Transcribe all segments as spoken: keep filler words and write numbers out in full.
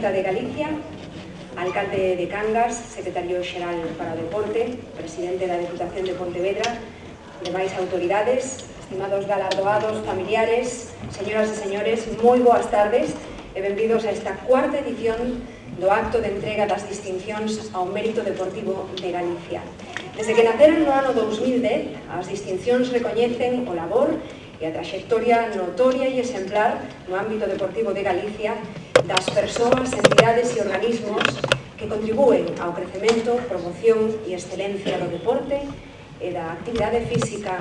Xunta de Galicia, alcalde de Cangas, secretario xeral para o deporte, presidente da Deputación de Pontevedra, demais autoridades, estimados galardoados, familiares, señoras e señores, moi boas tardes e benvidos a esta cuarta edición do acto de entrega das distincións ao mérito deportivo de Galicia. Desde que naceron no ano dous mil dez, as distincións recoñecen o labor e a traxectoria notoria e exemplar no ámbito deportivo de Galicia das persoas, entidades e organismos que contribúen ao crecemento, promoción e excelencia do deporte e da actividade física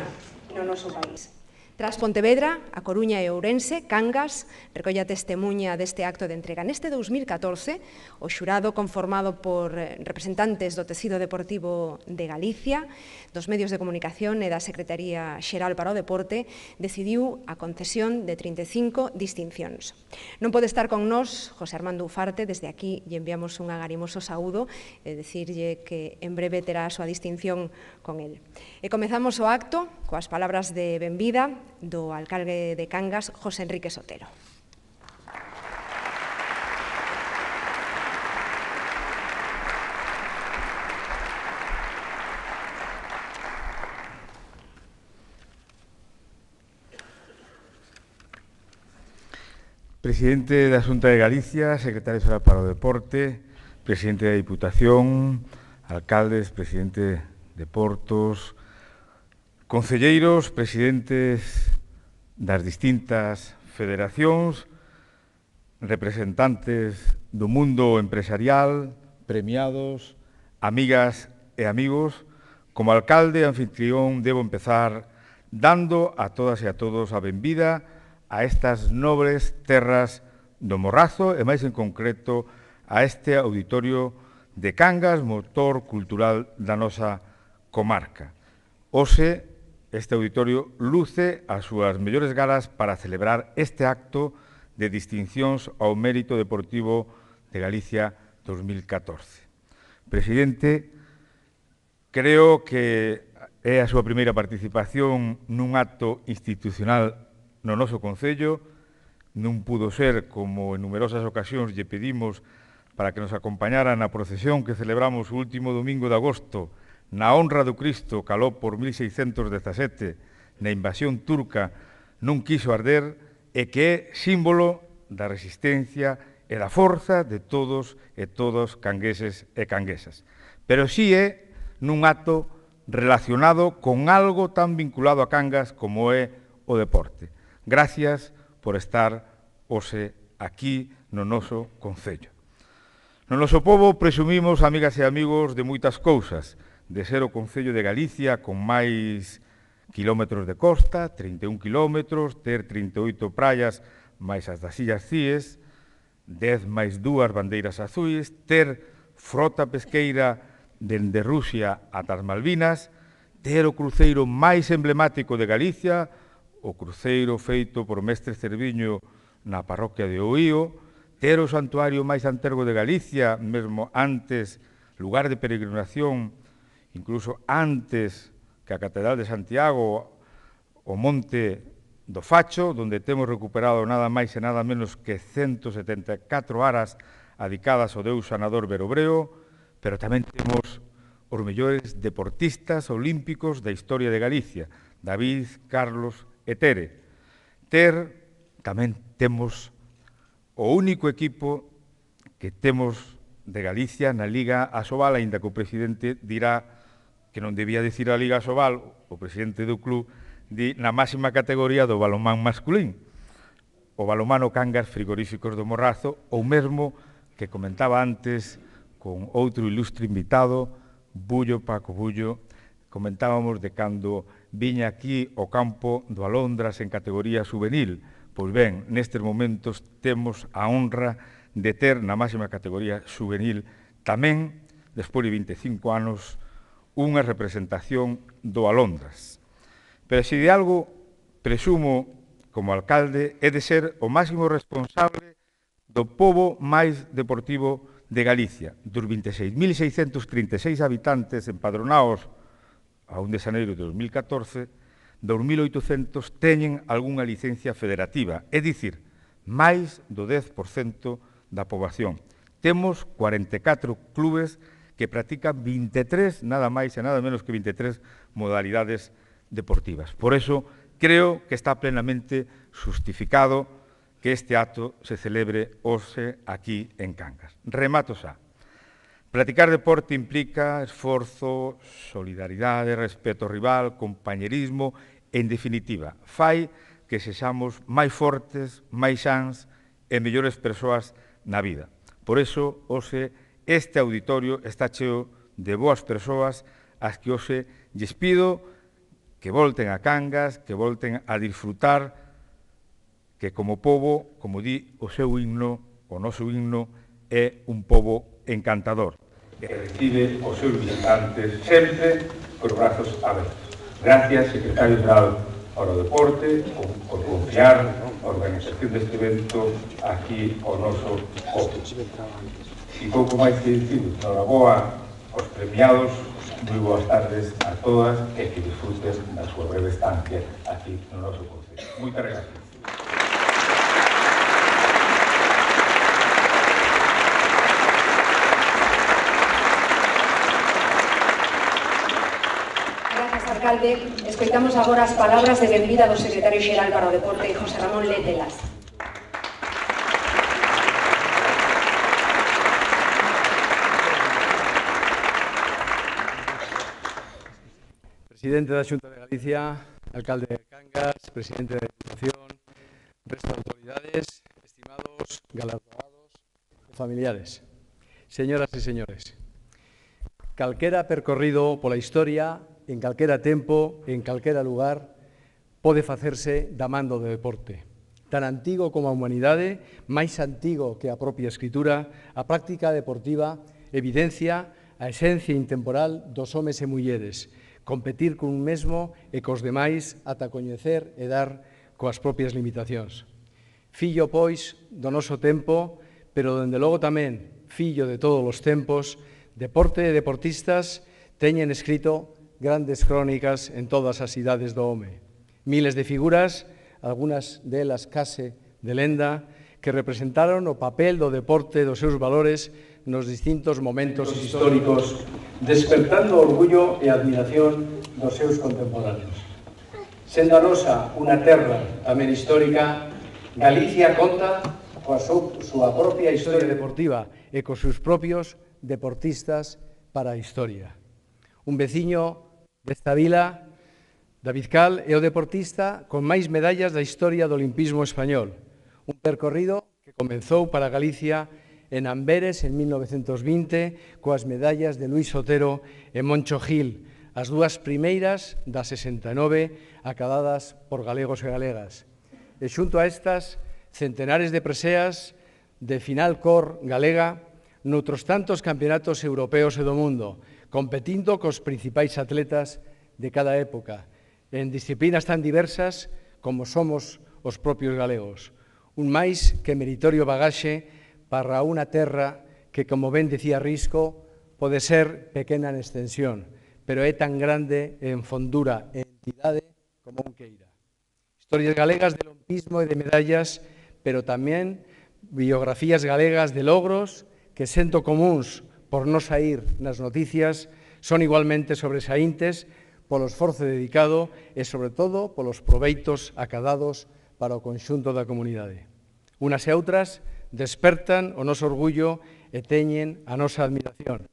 no noso país. Tras Pontevedra, A Coruña e Ourense, Cangas recolla testemunha deste acto de entrega. Neste dous mil catorce, o xurado conformado por representantes do tecido deportivo de Galicia, dos medios de comunicación e da Secretaría Xeral para o Deporte, decidiu a concesión de trinta e cinco distincións. Non pode estar con nós José Armando Ufarte, desde aquí lle enviamos un agarimoso saúdo e dicirlle que en breve terá a súa distinción con el. E comezamos o acto coas palabras de benvida do alcalde de Cangas, José Enrique Sotelo. Presidente da Xunta de Galicia, secretario xeral para o Deporte, presidente da Diputación, alcaldes, presidente de Portos, concelleiros, presidentes das distintas federacións, representantes do mundo empresarial, premiados, amigas e amigos, como alcalde e anfitrión debo empezar dando a todas e a todos a benvida a estas nobres terras do Morrazo e máis en concreto a este auditorio de Cangas, motor cultural da nosa comarca. Hoxe, este auditorio luce as súas mellores galas para celebrar este acto de distincións ao mérito deportivo de Galicia dos mil catorce. Presidente, creo que é a súa primeira participación nun acto institucional no noso Concello. Non pudo ser, como en numerosas ocasións lle pedimos para que nos acompañara na procesión que celebramos o último domingo de agosto na honra do Cristo caló por mil seiscentos dezasete na invasión turca non quiso arder e que é símbolo da resistencia e da forza de todos e todos cangueses e canguesas. Pero si é nun acto relacionado con algo tan vinculado a Cangas como é o deporte. Gracias por estar hoxe aquí no noso Concello. No noso pobo presumimos, amigas e amigos, de moitas cousas, de ser o Concello de Galicia con máis quilómetros de costa, trinta e un quilómetros, ter trinta e oito praias máis as das Illas Cíes, dez máis dúas bandeiras azuis, ter frota pesqueira dende Rusia ata as Malvinas, ter o cruceiro máis emblemático de Galicia, o cruceiro feito por Mestre Cerviño na parroquia de Oío, ter o santuario máis antergo de Galicia, mesmo antes, lugar de peregrinación, incluso antes que a Catedral de Santiago, o Monte do Facho, onde temos recuperado nada máis e nada menos que ciento setenta e catro aras adicadas ao deus sanador Berobreo, pero tamén temos os mellores deportistas olímpicos da historia de Galicia, David, Carlos e Tere. Ter, tamén temos o único equipo que temos de Galicia na Liga Asobal, aínda que o presidente dirá que non debía dicir a Liga Asobal, o presidente do club di na máxima categoría do balonmán masculín, o balonmano Cangas Frigoríficos do Morrazo, ou mesmo que comentaba antes con outro ilustre invitado, Bullo, Paco Bullo, comentábamos de cando viña aquí o campo do Alondras en categoría juvenil. Pois ben, nestes momentos temos a honra de ter na máxima categoría juvenil tamén, despois de vinte e cinco anos, unha representación do Alondras. Pero se de algo presumo como alcalde é de ser o máximo responsable do pobo máis deportivo de Galicia, dos vinte e seis mil seiscentos trinta e seis habitantes empadronados a un de xaneiro de dos mil catorce, dos mil oitocentos teñen algunha licencia federativa, é dicir, máis do dez por cento da poboación. Temos cuarenta e catro clubes que practican vinte e tres, nada máis e nada menos que vinte e tres modalidades deportivas. Por eso, creo que está plenamente justificado que este acto se celebre hoxe aquí en Cangas. Remato xa. Practicar deporte implica esforzo, solidaridade, respeto ao rival, compañerismo e, en definitiva, fai que sexamos máis fortes, máis sans e mellores persoas na vida. Por iso, hoxe, este auditorio está cheo de boas persoas as que hoxe lles pido que volten a Cangas, que volten a disfrutar, que como pobo, como di o seu himno, o noso himno, é un pobo encantador, que recibe os seus visitantes sempre cos brazos abertos. Gracias, secretario xeral para o deporte, por confiar a organización deste evento aquí ao noso pobo. E pouco máis que dicir, noraboa aos premiados, moi boas tardes a todas e que disfruten da súa breve estancia aquí no noso concello. Moitas gracias. Alcalde, escoitamos agora as palabras de benvida do secretario xeral para o deporte, José Ramón Lételas. Presidente da Xunta de Galicia, alcalde de Cangas, presidente da Diputación, resto de autoridades, estimados galardonados e familiares. Señoras e señores, calquera percorrido pola historia, en calquera tempo, en calquera lugar, pode facerse da man do deporte. Tan antigo como a humanidade, máis antigo que a propia escritura, a práctica deportiva evidencia a esencia intemporal dos homes e mulleres, competir cun mesmo e cos demais ata coñecer e dar coas propias limitacións. Fillo, pois, do noso tempo, pero, dende logo, tamén fillo de todos os tempos, deporte e deportistas teñen escrito grandes crónicas en todas as idades do home. Miles de figuras, algunhas delas case de lenda, que representaron o papel do deporte e dos seus valores nos distintos momentos históricos, despertando orgullo e admiración dos seus contemporáneos. Sendo a nosa unha terra tamén histórica, Galicia conta coa súa propia historia deportiva e cos seus propios deportistas para a historia. Un veciño desta vila, David Cal, é o deportista con máis medallas da historia do olimpismo español. Un percorrido que comezou para Galicia en Amberes en mil novecentos vinte coas medallas de Luís Otero e Moncho Gil, as dúas primeiras das sesenta e nove acadadas por galegos e galegas. E xunto a estas, centenares de preseas de final cor galega noutros tantos campeonatos europeos e do mundo, competindo cos principais atletas de cada época, en disciplinas tan diversas como somos os propios galegos. Un máis que meritorio bagaxe para unha terra que, como ben dicía Risco, pode ser pequena en extensión, pero é tan grande en fondura e entidade como un queira. Historias galegas de olimpismo e de medallas, pero tamén biografías galegas de logros que, sendo comuns por non saír nas noticias, son igualmente sobresaíntes polo esforzo dedicado e, sobre todo, polos proveitos acadados para o conxunto da comunidade. Unas e outras despertan o noso orgullo e teñen a nosa admiración,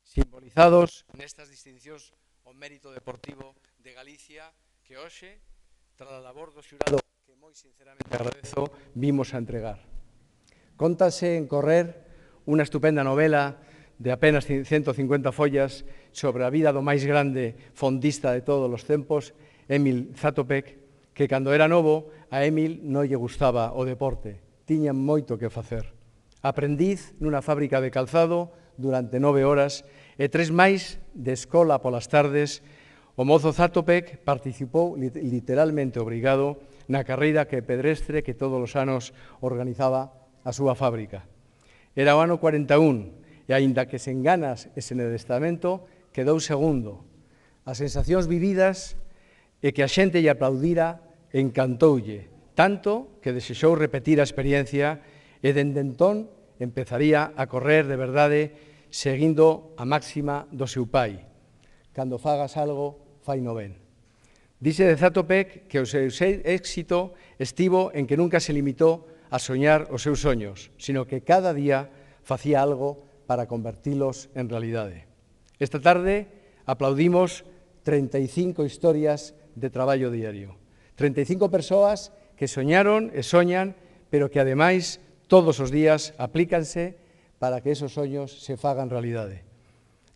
simbolizados nestas distincións ao mérito deportivo de Galicia que hoxe, tras a labor do xurado que moi sinceramente agradezo, vimos a entregar. Cóntase en Correr unha estupenda novela de apenas ciento cincuenta follas sobre a vida do máis grande fondista de todos os tempos, Emil Zatopek, que cando era novo a Emil non lle gustaba o deporte, tiña moito que facer. Aprendiz nunha fábrica de calzado durante nove horas e tres máis de escola polas tardes, o mozo Zatopek participou literalmente obrigado na carreira que pedestre que todos os anos organizaba a súa fábrica. Era o ano cuarenta e un, e aínda que sen ganas e sen adestramento, quedou segundo. As sensacións vividas e que a xente lle aplaudira encantoulle, tanto que desexou repetir a experiencia e dende entón empezaría a correr de verdade seguindo a máxima do seu pai. Cando fagas algo, faino ben. Dice de Zatopek que o seu éxito estivo en que nunca se limitou a soñar os seus soños, sino que cada día facía algo para convertilos en realidade. Esta tarde aplaudimos treinta e cinco historias de traballo diario. treinta e cinco persoas que soñaron e soñan, pero que, ademais, todos os días aplícanse para que esos soños se fagan realidade.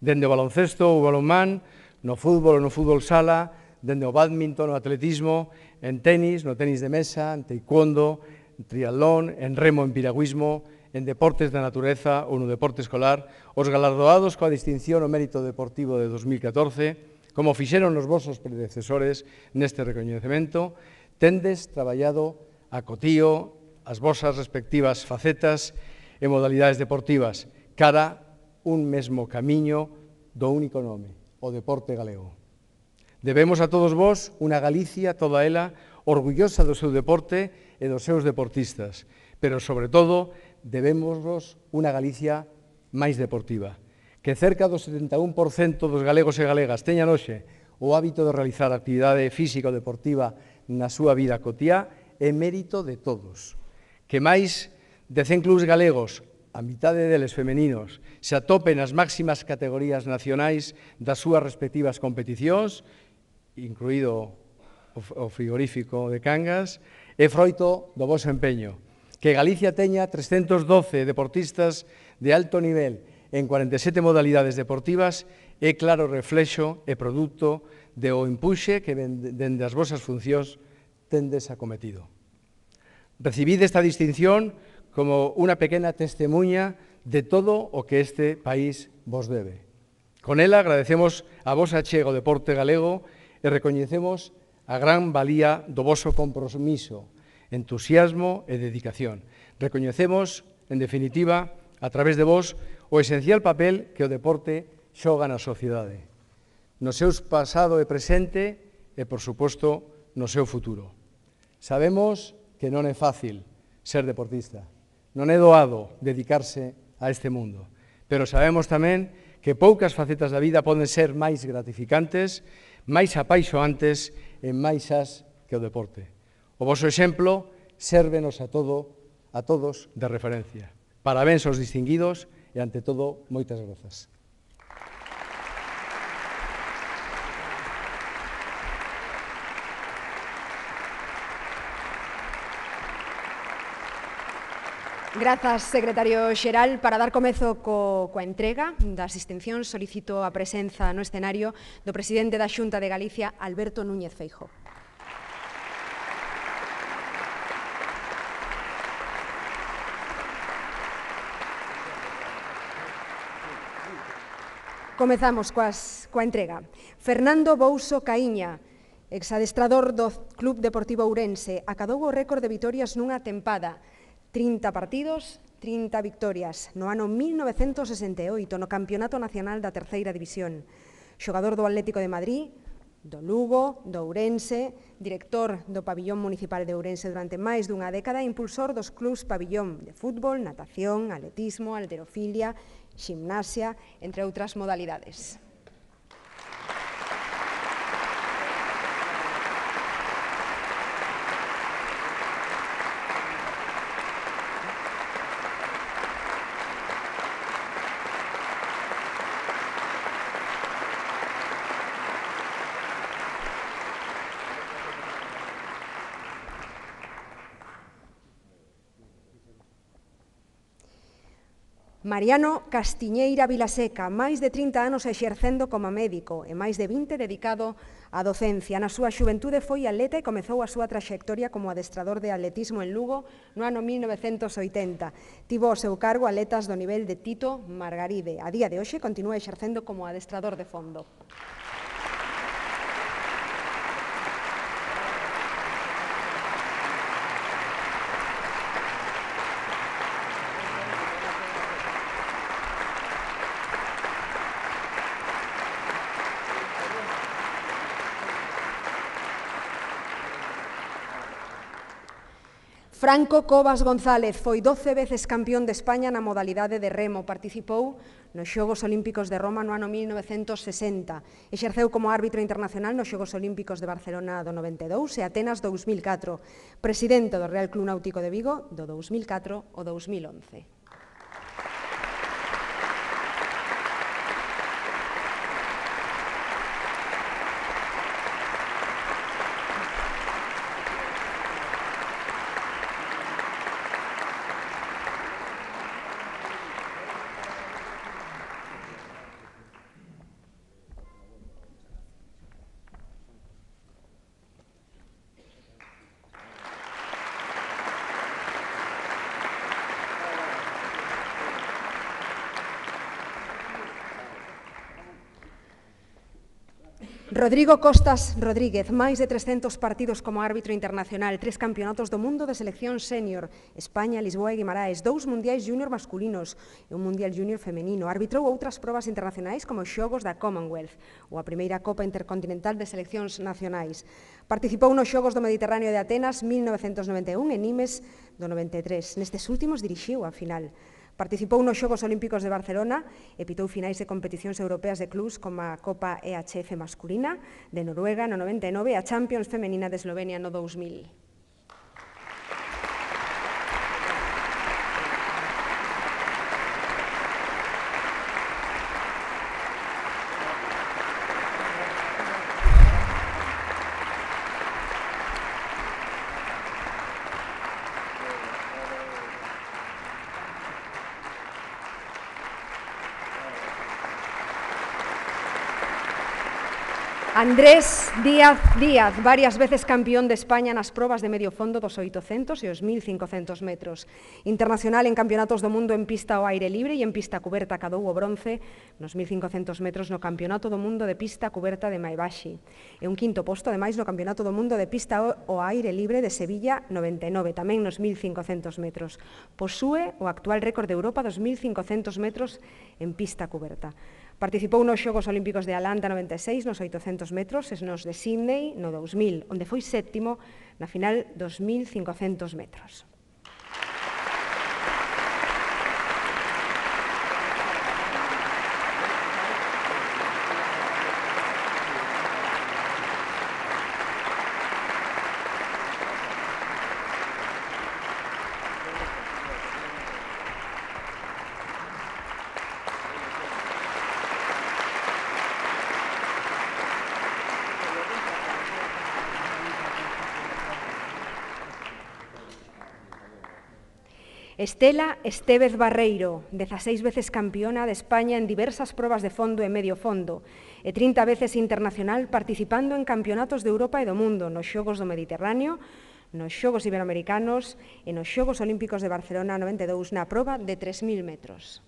Dende o baloncesto ou balonmán, no fútbol ou no fútbol sala, dende o bádminton, no atletismo, en tenis, no tenis de mesa, en taekwondo, en triatlón, en remo, en piragüismo, en deportes da natureza ou no deporte escolar, os galardoados coa distinción ao mérito deportivo de dos mil catorce, como fixeron os vosos predecesores neste recoñecemento, tendes traballado a cotío as vosas respectivas facetas e modalidades deportivas cara un mesmo camiño do único nome, o deporte galego. Debemos a todos vós unha Galicia, toda ela, orgullosa do seu deporte e dos seus deportistas, pero, sobre todo, debemos unha Galicia máis deportiva, que cerca do setenta e un por cento dos galegos e galegas teñan hoxe o hábito de realizar actividade física ou deportiva na súa vida cotiá é mérito de todos. Que máis de cen clubs galegos, a mitade deles femeninos, se atopen nas máximas categorías nacionais das súas respectivas competicións, incluído o frigorífico de Cangas, é froito do voso empeño. Que Galicia teña trescentos doce deportistas de alto nivel en cuarenta e sete modalidades deportivas é claro reflexo e produto do empuxe que dende as vosas funcións tendes acometido. Recibid esta distinción como unha pequena testemunha de todo o que este país vos debe. Con ela agradecemos a vos achego ao deporte galego e recoñecemos a gran valía do voso compromiso, entusiasmo e dedicación. Recoñecemos, en definitiva, a través de vos, o esencial papel que o deporte xoga na sociedade, no seu pasado e presente e, por suposto, no seu futuro. Sabemos que non é fácil ser deportista, non é doado dedicarse a este mundo, pero sabemos tamén que poucas facetas da vida poden ser máis gratificantes, máis apaixoantes e máis as que o deporte. O voso exemplo sérvenos a todo, a todos de referencia. Parabéns aos distinguidos e, ante todo, moitas grazas. Grazas, secretario xeral. Para dar comezo co, coa entrega das distincións, solicito a presenza no escenario do presidente da Xunta de Galicia, Alberto Núñez Feijóo. Comezamos coas, coa entrega. Fernando Bouso Caíña, exadestrador do Club Deportivo Ourense, acadou o récord de vitorias nunha tempada. trinta partidos, trinta victorias, no ano mil novecentos sesenta e oito, no Campeonato Nacional da Terceira División. Xogador do Atlético de Madrid, do Lugo, do Ourense, director do Pabillón Municipal de Ourense durante máis dunha década e impulsor dos clubs Pabillón de fútbol, natación, atletismo, halterofilia, ximnasia, entre outras modalidades. Mariano Castiñeira Vilaseca, máis de trinta anos exercendo como médico e máis de vinte dedicado á docencia. Na súa xuventude foi atleta e comezou a súa traxectoria como adestrador de atletismo en Lugo no ano mil novecentos oitenta. Tivo ao seu cargo atletas do nivel de Tito Margaride. A día de hoxe continúa exercendo como adestrador de fondo. Franco Cobas González foi doce veces campeón de España na modalidade de remo. Participou nos Xogos Olímpicos de Roma no ano mil novecentos sesenta. Exerceu como árbitro internacional nos Xogos Olímpicos de Barcelona do noventa e dous e Atenas dous mil catro. Presidente do Real Club Náutico de Vigo do dous mil catro ao dous mil once. Rodrigo Costas Rodríguez, máis de trescentos partidos como árbitro internacional, tres campeonatos do mundo de selección sénior, España, Lisboa e Guimaraes, dous mundiais júnior masculinos e un mundial júnior femenino. Arbitrou outras probas internacionais como os Xogos da Commonwealth ou a primeira Copa Intercontinental de Seleccións Nacionais. Participou nos Xogos do Mediterráneo de Atenas mil novecentos noventa e un e Nimes do noventa e tres. Nestes últimos dirixiu a final. Participou nos Xogos Olímpicos de Barcelona e pitou finais de competicións europeas de clubs como a Copa E H F masculina de Noruega no noventa e nove e a Champions femenina de Eslovenia no dous mil. Andrés Díaz Díaz, varias veces campeón de España nas probas de medio fondo dos oitocentos e os mil cincocentos metros. Internacional en campeonatos do mundo en pista ao aire libre e en pista cuberta, cadou o bronce nos mil cincocentos metros no Campeonato do Mundo de Pista Cuberta de Maebashi. E un quinto posto, ademais, no Campeonato do Mundo de Pista ao aire libre de Sevilla noventa e nove, tamén nos mil cincocentos metros. Posúe o actual récord de Europa dos mil cincocentos metros en pista cuberta. Participou nos Xogos Olímpicos de Atlanta noventa e seis, nos oitocentos metros, e nos de Sydney no dous mil, onde foi sétimo na final dos mil cincocentos metros. Estela Estévez Barreiro, dezaseis veces campeona de España en diversas probas de fondo e medio fondo e trinta veces internacional participando en campeonatos de Europa e do mundo nos Xogos do Mediterráneo, nos Xogos Iberoamericanos e nos Xogos Olímpicos de Barcelona noventa e dous na proba de tres mil metros.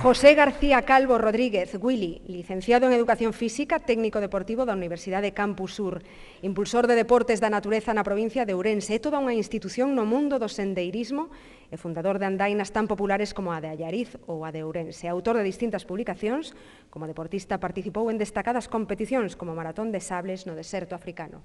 José García Calvo Rodríguez, Willy, licenciado en Educación Física, técnico deportivo da Universidade Campus Sur, impulsor de deportes da natureza na provincia de Ourense, é toda unha institución no mundo do sendeirismo e fundador de andainas tan populares como a de Allariz ou a de Ourense. Autor de distintas publicacións, como deportista participou en destacadas competicións como Maratón de Sables no deserto africano.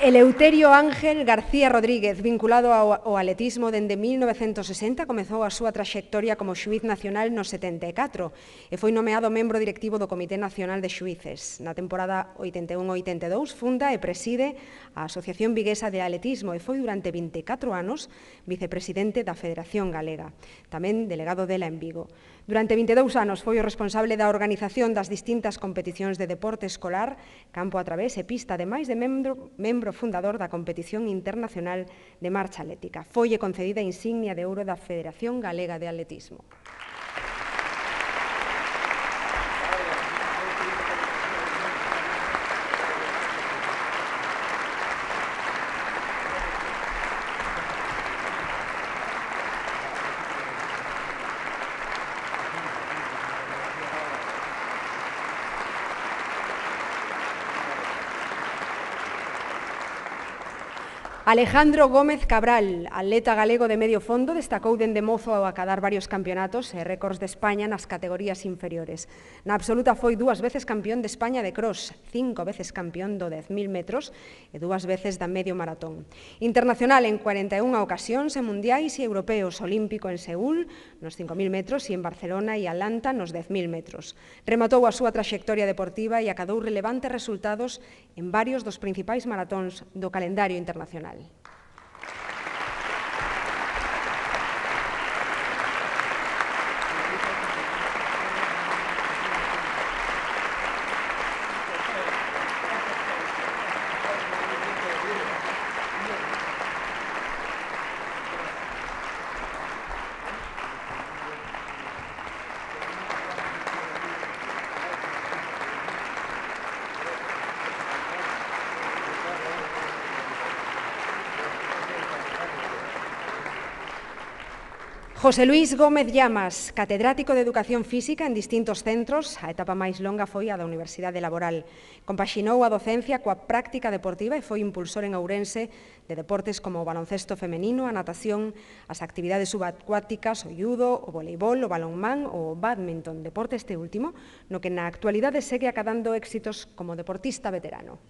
Eleuterio Ángel García Rodríguez, vinculado ao, ao atletismo dende mil novecentos sesenta, comezou a súa traxectoria como xuíz nacional no setenta e catro e foi nomeado membro directivo do Comité Nacional de Xuíces. Na temporada oitenta e un oitenta e dous funda e preside a Asociación Viguesa de Atletismo e foi durante vinte e catro anos vicepresidente da Federación Galega, tamén delegado dela en Vigo. Durante vinte e dous anos foi o responsable da organización das distintas competicións de deporte escolar, campo a través e pista, ademais de membro, membro fundador da competición internacional de marcha atlética. Foille concedida a insignia de ouro da Federación Galega de Atletismo. Alejandro Gómez Cabral, atleta galego de medio fondo, destacou dende mozo ao acadar varios campeonatos e récords de España nas categorías inferiores. Na absoluta foi dúas veces campeón de España de cross, cinco veces campeón do dez mil metros e dúas veces da medio maratón. Internacional en cuarenta e unha ocasións en mundiais e europeos, olímpico en Seúl nos cinco mil metros e en Barcelona e Atlanta nos dez mil metros. Rematou a súa traxectoria deportiva e acadou relevantes resultados en varios dos principais maratóns do calendario internacional. José Luis Gómez Llamas, catedrático de Educación Física en distintos centros, a etapa máis longa foi a da Universidade Laboral. Compaxinou a docencia coa práctica deportiva e foi impulsor en Ourense de deportes como o baloncesto femenino, a natación, as actividades subacuáticas, o judo, o voleibol, o balonmán ou o bádminton, deporte este último, no que na actualidade segue acadando éxitos como deportista veterano.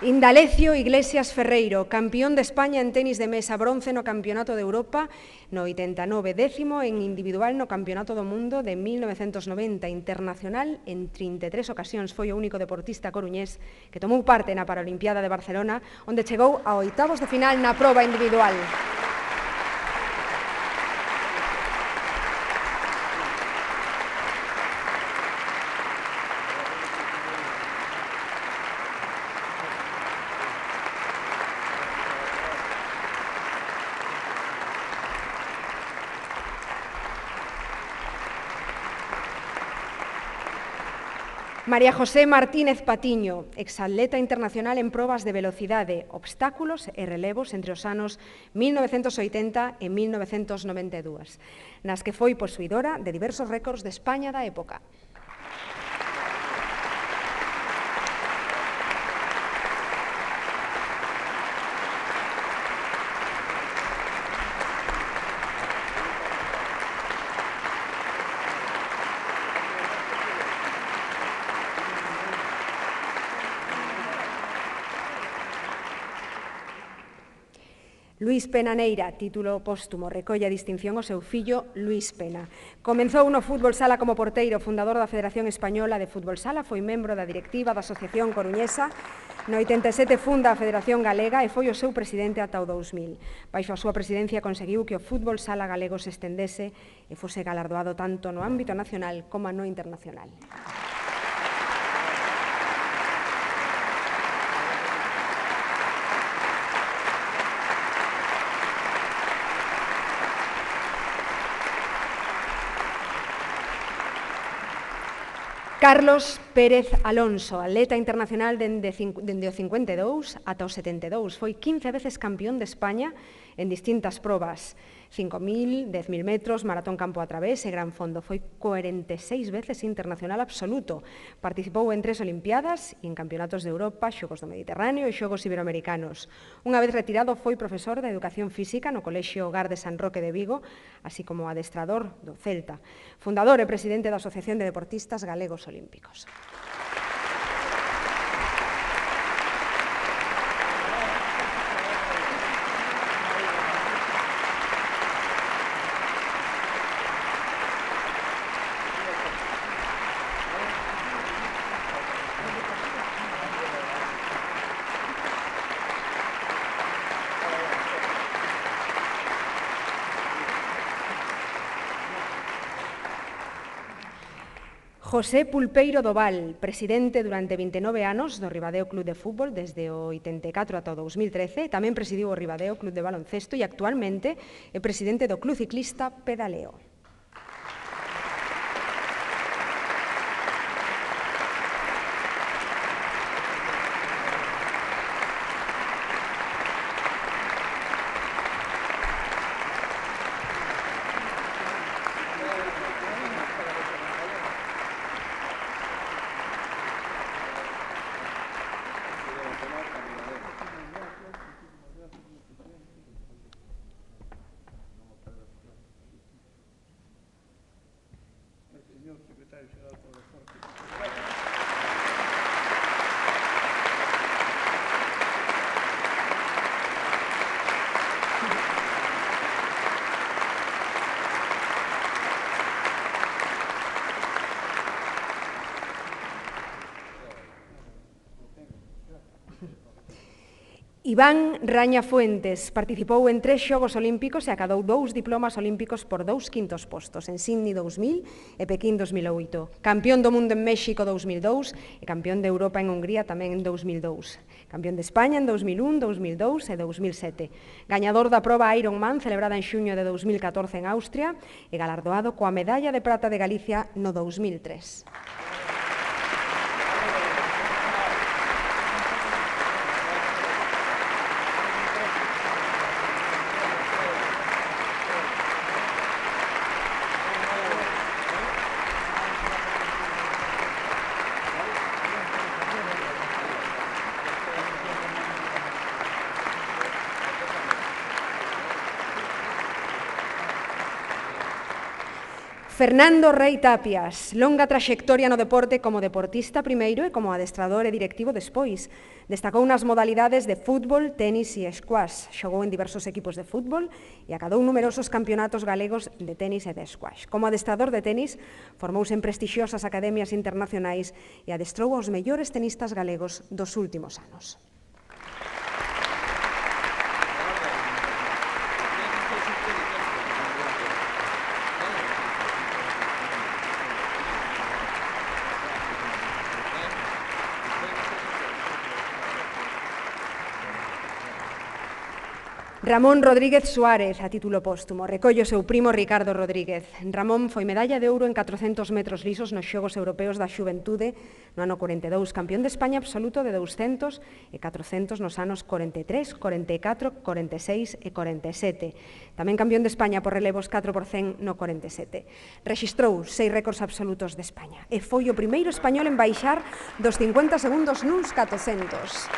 Indalecio Iglesias Ferreiro, campeón de España en tenis de mesa, bronce no Campeonato de Europa no oitenta e nove, décimo en individual no Campeonato do Mundo de mil novecentos noventa, internacional en trinta e tres ocasións. Foi o único deportista coruñés que tomou parte na Paralimpiada de Barcelona, onde chegou a oitavos de final na proba individual. María José Martínez Patiño, exatleta internacional en probas de velocidade, obstáculos e relevos entre os anos mil novecentos oitenta e mil novecentos noventa e dous, nas que foi posuidora de diversos récords de España da época. Luís Pena Neira, título póstumo, recolle a distinción ao seu fillo Luís Pena. Comezou no fútbol sala como porteiro, fundador da Federación Española de Fútbol Sala, foi membro da directiva da Asociación Coruñesa. No oitenta e sete funda a Federación Galega e foi o seu presidente ata o dous mil. Baixo a súa presidencia conseguiu que o fútbol sala galego se estendese e fose galardoado tanto no ámbito nacional como no internacional. Carlos Pérez Alonso, atleta internacional dende, dende o cincuenta e dous ata o setenta e dous. Foi quince veces campeón de España en distintas probas. cinco mil, dez mil metros, maratón campo a través e gran fondo. Foi cuarenta e seis veces internacional absoluto. Participou en tres Olimpiadas e en campeonatos de Europa, Xogos do Mediterráneo e Xogos Iberoamericanos. Unha vez retirado foi profesor de Educación Física no Colexio Hogar de San Roque de Vigo, así como adestrador do Celta. Fundador e presidente da Asociación de Deportistas Galegos Olímpicos. José Pulpeiro Doval, presidente durante vinte e nove anos do Ribadeo Club de Fútbol desde o oitenta e catro ata o dous mil trece, tamén presidiu o Ribadeo Club de Baloncesto e actualmente é presidente do Club Ciclista Pedaleo. Iván Raña Fuentes participou en tres Xogos Olímpicos e acadou dous diplomas olímpicos por dous quintos postos en Sydney dous mil e Pequín dous mil oito. Campeón do mundo en México dous mil dous e campeón de Europa en Hungría tamén en dous mil dous. Campeón de España en dous mil un, dous mil dous e dous mil sete. Gañador da proba Ironman celebrada en xuño de dous mil catorce en Austria e galardoado coa medalla de prata de Galicia no dous mil tres. Fernando Rei Tapias, longa traxectoria no deporte como deportista primeiro e como adestrador e directivo despois. Destacou nas modalidades de fútbol, tenis e squash. Xogou en diversos equipos de fútbol e acadou numerosos campeonatos galegos de tenis e de squash. Como adestrador de tenis, formouse en prestixiosas academias internacionais e adestrou aos mellores tenistas galegos dos últimos anos. Ramón Rodríguez Suárez, a título póstumo, recolle o seu primo Ricardo Rodríguez. Ramón foi medalla de ouro en catrocentos metros lisos nos Xogos Europeos da Xuventude no ano corenta e dous, campeón de España absoluto de douscentos e catrocentos nos anos corenta e tres, corenta e catro, corenta e seis e corenta e sete. Tamén campeón de España por relevos catro por cen no corenta e sete. Rexistrou seis récords absolutos de España e foi o primeiro español en baixar dos cincuenta segundos nuns catrocentos.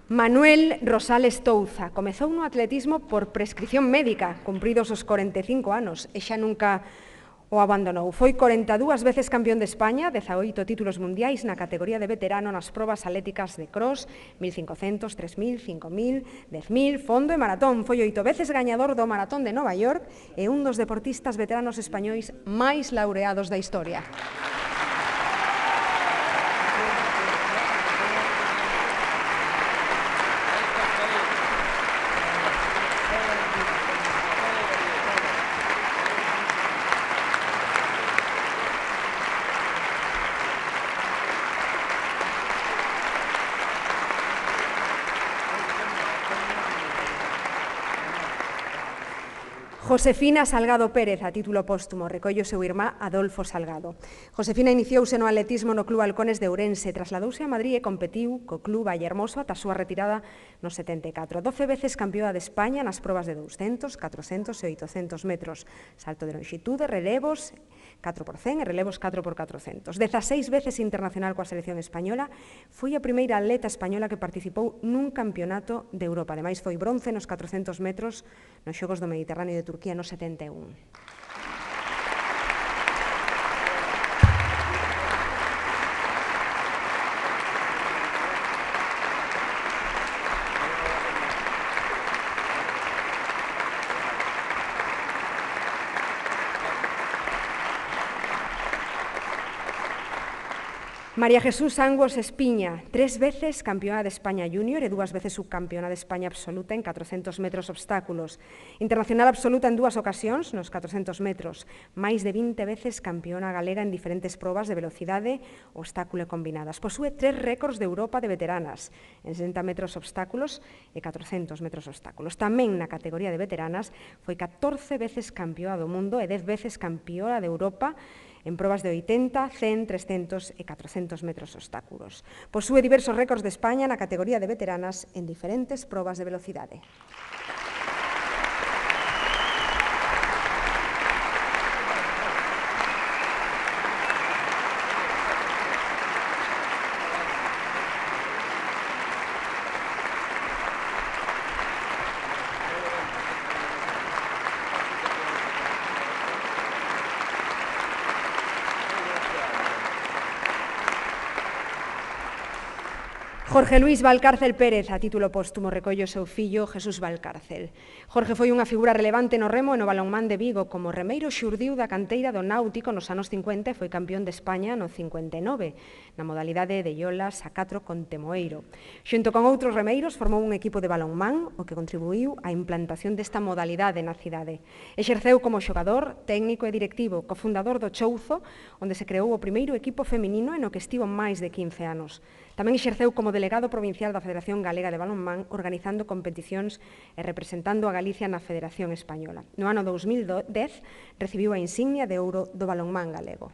Manuel Rosales Touza comezou no atletismo por prescripción médica, cumpridos os corenta e cinco anos, e xa nunca o abandonou. Foi corenta e dúas veces campeón de España, dezaoito títulos mundiais na categoría de veterano nas probas atléticas de cross, mil cincocentos, tres mil, cinco mil, dez mil, fondo e maratón. Foi oito veces gañador do maratón de Nova York e un dos deportistas veteranos españois máis laureados da historia. Josefina Salgado Pérez, a título póstumo, recolle o seu irmá Adolfo Salgado. Josefina iniciouse no atletismo no Club Halcones de Ourense, trasladouse a Madrid e competiu co Club Vallehermoso ata a súa retirada no setenta e catro. doce veces campeoa de España nas probas de douscentos, catrocentos e oitocentos metros, salto de lonxitude, relevos catro por cen e relevos catro por catrocentos. dezaseis veces internacional coa selección española, foi a primeira atleta española que participou nun campeonato de Europa. Ademais, foi bronce nos catrocentos metros nos Xogos do Mediterráneo de Turquía no setenta e un. María Jesús Angos Espiña, tres veces campeona de España júnior e dúas veces subcampeona de España absoluta en catrocentos metros obstáculos. Internacional absoluta en dúas ocasións nos catrocentos metros. Máis de vinte veces campeona galega en diferentes probas de velocidade, obstáculo e combinadas. Posúe tres récords de Europa de veteranas en sesenta metros obstáculos e catrocentos metros obstáculos. Tamén na categoría de veteranas foi catorce veces campeoa do mundo e dez veces campeoa de Europa en probas de oitenta, cen, trescentos e catrocentos metros obstáculos. Posúe diversos récords de España na categoría de veteranas en diferentes probas de velocidade. Jorge Luis Valcárcel Pérez, a título póstumo, recolle o seu fillo Jesús Valcárcel. Jorge foi unha figura relevante no remo e no balonmán de Vigo. Como remeiro xurdiu da canteira do Náutico nos anos cincuenta e foi campeón de España no cincuenta e nove, na modalidade de iolas a catro con Temoeiro. Xunto con outros remeiros formou un equipo de balonmán, o que contribuiu á implantación desta modalidade na cidade. Exerceu como xogador, técnico e directivo, cofundador do Chouzo, onde se creou o primeiro equipo feminino e no que estivo máis de quince anos. Tamén exerceu como delegado provincial da Federación Galega de Balonmán, organizando competicións e representando a Galicia na Federación Española. No ano dous mil dez recibiu a insignia de ouro do balonmán galego.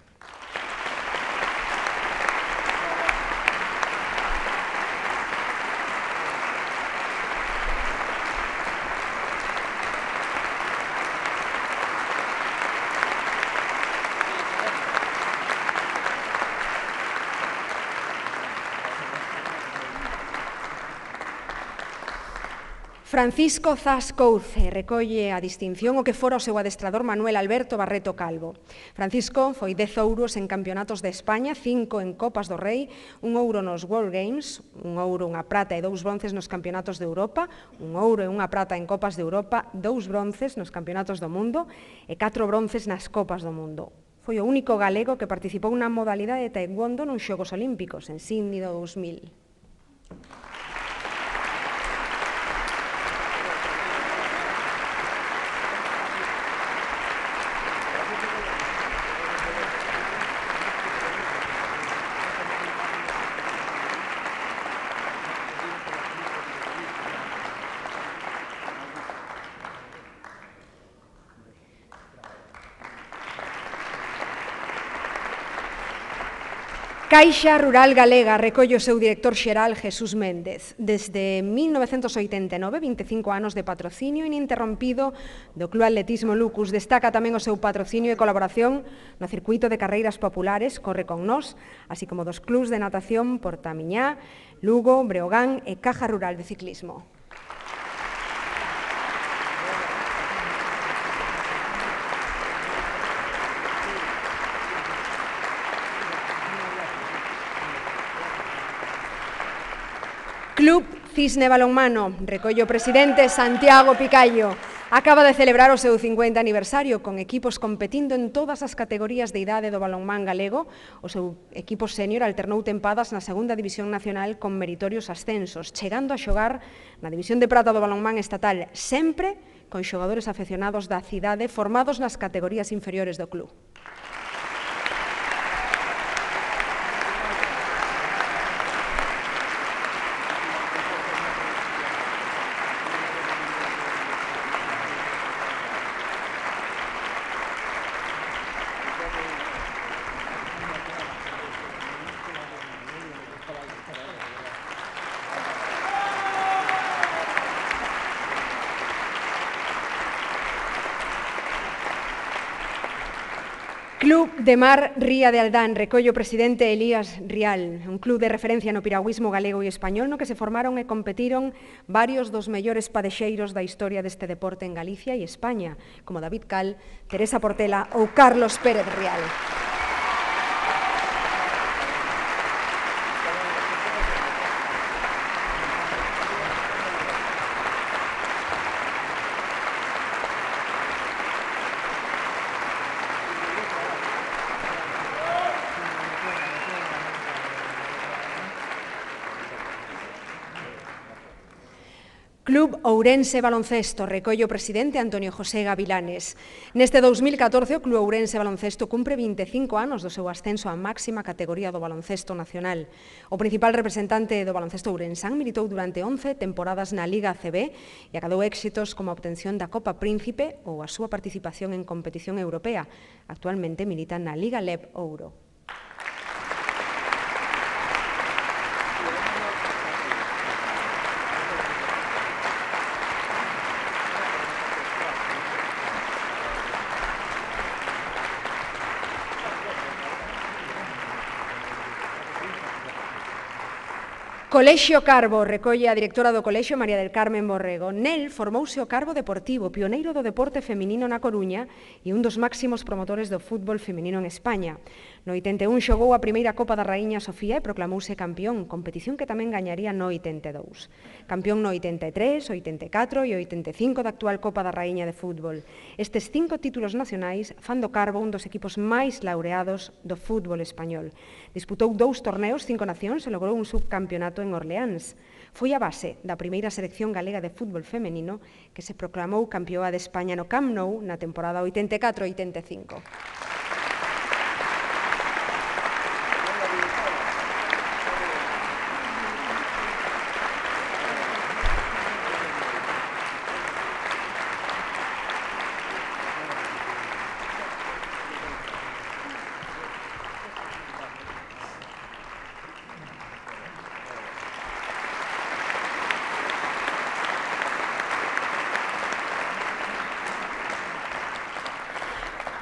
Francisco Zas Couce recolle a distinción o que fora o seu adestrador Manuel Alberto Barreto Calvo. Francisco foi dez ouros en campeonatos de España, cinco en Copas do Rei, un ouro nos World Games, un ouro, unha prata e dous bronces nos campeonatos de Europa, un ouro e unha prata en Copas de Europa, dous bronces nos campeonatos do mundo e catro bronces nas Copas do Mundo. Foi o único galego que participou na modalidade de taekwondo nos Xogos Olímpicos en Sydney do dous mil. Caixa Rural Galega recolle o seu director xeral Jesús Méndez. Desde mil novecentos oitenta e nove, vinte e cinco anos de patrocinio ininterrompido do Club Atletismo Lucus. Destaca tamén o seu patrocinio e colaboración no circuito de carreiras populares Corre con Nós, así como dos clubs de natación Portamiñá, Lugo, Breogán e Caja Rural de Ciclismo. Club Cisne Balonmano, recolle o presidente Santiago Picallo. Acaba de celebrar o seu cincuenta aniversario con equipos competindo en todas as categorías de idade do balonmán galego. O seu equipo sénior alternou tempadas na segunda división nacional con meritorios ascensos, chegando a xogar na división de prata do balonmán estatal, sempre con xogadores afeccionados da cidade formados nas categorías inferiores do club. Club de Mar Ría de Aldán, recollo o presidente Elías Rial, un club de referencia no piragüismo galego e español no que se formaron e competiron varios dos mellores padexeiros da historia deste deporte en Galicia e España, como David Cal, Teresa Portela ou Carlos Pérez Rial. Club Ourense Baloncesto, recollo o presidente Antonio José Gavilanes. Neste dous mil catorce, o Club Ourense Baloncesto cumpre vinte e cinco anos do seu ascenso á máxima categoría do baloncesto nacional. O principal representante do baloncesto ourensán militou durante once temporadas na Liga A C B e acadou éxitos como a obtención da Copa Príncipe ou a súa participación en competición europea. Actualmente milita na Liga L E B Ouro. Colexio Carbo, recolle a directora do Colexio María del Carmen Borrego. Nel formouse o Carbo Deportivo, pioneiro do deporte feminino na Coruña e un dos máximos promotores do fútbol feminino en España. No oitenta e un xogou a primeira Copa da Raíña Sofía e proclamouse campeón, competición que tamén gañaría no oitenta e dous. Campeón no oitenta e tres, oitenta e catro e oitenta e cinco da actual Copa da Raíña de fútbol. Estes cinco títulos nacionais fan do Carbo un dos equipos máis laureados do fútbol español. Disputou dous torneos, cinco nacións e logrou un subcampeonato en Orleáns. Foi a base da primeira selección galega de fútbol femenino que se proclamou campeoa de España no Camp Nou na temporada oitenta e catro oitenta e cinco.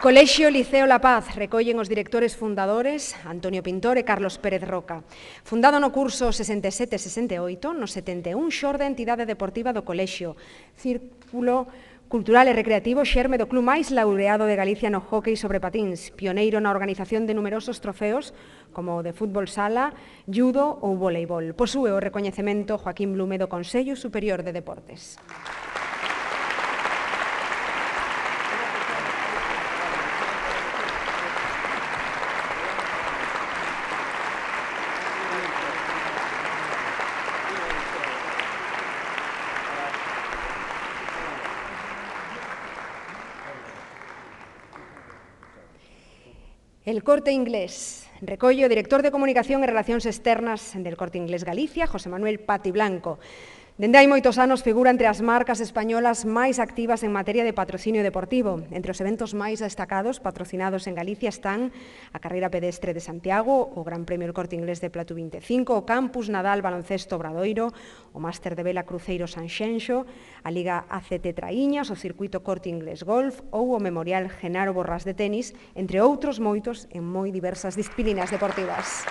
Colexio Liceo La Paz, recollen os directores fundadores Antonio Pintor e Carlos Pérez Roca. Fundado no curso sesenta e sete sesenta e oito, no setenta e un xorde a entidade deportiva do Colexio, círculo cultural e recreativo xerme do club máis laureado de Galicia no hóquei sobre patíns, pioneiro na organización de numerosos trofeos como o de fútbol sala, judo ou voleibol. Posúe o recoñecemento Joaquín Blume do Consello Superior de Deportes. El Corte Inglés, recollo o director de Comunicación e Relacións Externas del Corte Inglés Galicia, José Manuel Pati Blanco. Dende hai moitos anos figura entre as marcas españolas máis activas en materia de patrocinio deportivo. Entre os eventos máis destacados patrocinados en Galicia están a Carreira Pedestre de Santiago, o Gran Premio El Corte Inglés de Platu vinte e cinco, o Campus Nadal Baloncesto Obradoiro, o Máster de Vela Cruceiro Sanxenxo, a Liga A C T Traíñas, o Circuito Corte Inglés Golf ou o Memorial Genaro Borrás de Tenis, entre outros moitos en moi diversas disciplinas deportivas.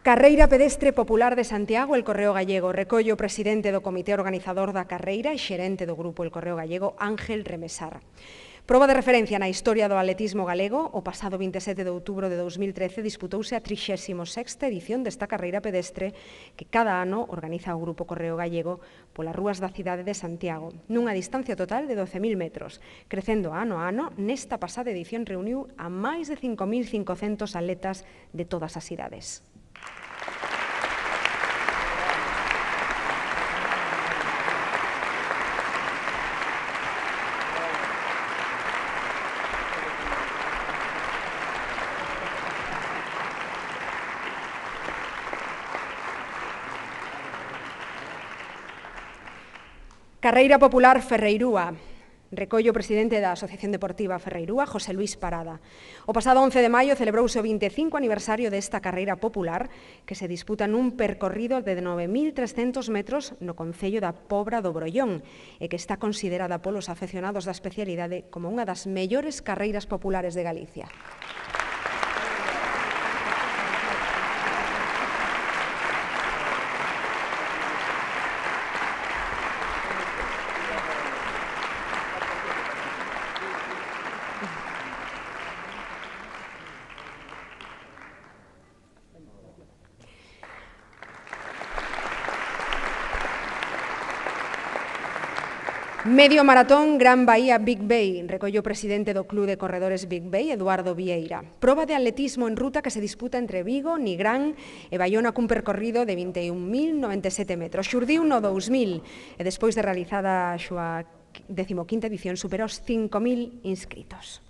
Carreira Pedestre Popular de Santiago, El Correo Gallego. Recollo o presidente do comité organizador da carreira e xerente do grupo El Correo Gallego, Ángel Remesar. Proba de referencia na historia do atletismo galego, o pasado vinte e sete de outubro de dous mil trece disputouse a trixésima sexta edición desta carreira pedestre que cada ano organiza o Grupo Correo Gallego polas rúas da cidade de Santiago, nunha distancia total de doce mil metros, crecendo ano a ano. Nesta pasada edición reuniu a máis de cinco mil cincocentos atletas de todas as idades. Carreira Popular Ferreirúa. Recollo o presidente da Asociación Deportiva Ferreirúa, José Luis Parada. O pasado once de maio celebrouse o vinte e cinco aniversario desta carreira popular que se disputa nun percorrido de nove mil trescentos metros no concello da Pobra do Brollón e que está considerada polos afeccionados da especialidade como unha das mellores carreiras populares de Galicia. Medio maratón Gran Bahía Big Bay, recollo o presidente do Club de Corredores Big Bay, Eduardo Vieira. Proba de atletismo en ruta que se disputa entre Vigo, Nigrán e Baiona cun percorrido de vinte e un mil noventa e sete metros. Xurdiu no dous mil e despois de realizada a súa decimoquinta edición superou os cinco mil inscritos.